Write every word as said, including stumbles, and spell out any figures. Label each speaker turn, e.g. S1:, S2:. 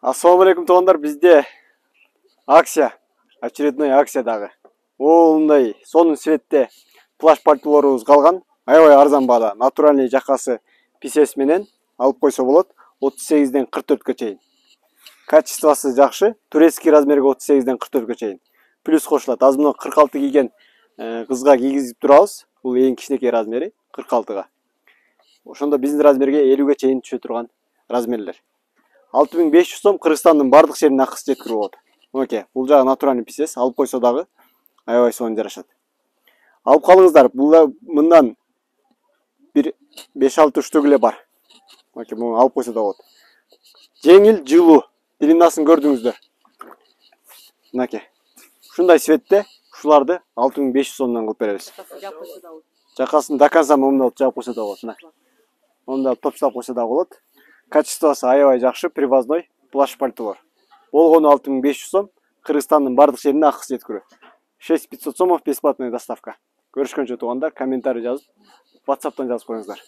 S1: Ассаламу алейкум туугандар, бизде акция, очередной акция дагы. Оондай сонун светте плащ пальтолорубуз калган. Аябай арзан баада, натуральный жакасы писес менен алып койсо болот. отуз сегизден кырк төрткө чейин. Качествосы жакшы, турецкий размерге отуз сегизден кырк төрткө чейин. Плюс кошулат. Азыр мына кырк алты кийген кызга кийгизип турабыз. Бул эң кичинекей размери кырк алтыга. Ошондо биздин размерге элүүгө чейин түшө турган размерлер. алты миң беш жүз сом Кыргызстандын бардык жерине акысы жеткирип болот. Мынакей, бул жагы натуральный писес, алып койсо дагы аябай сонун жарашат. Алып калыңыздар. Бул мындан бир беш алты штук эле бар. Мынакей, муну алып койсо да болот. Жеңил, жылуу. Длиннасын көрдүңүздөр. Мынакей. Ушундай светте ушуларды алты миң беш жүз сомдон кылып беребиз. Жакасын до конца момундай жаап койсо да болот. Мына. Монда топчулап койсо да болот. Качествосы аябай жакшы, привозной плащ пальтолор. Болгону алты миң беш жүз сом, Кыргызстандын бардык жерине акысы жеткирүү. шесть тысяч пятьсот сомов бесплатная доставка. Көрүшкөнчө туугандар, комментарий жазып, WhatsApp'тан жазып коюңуздар.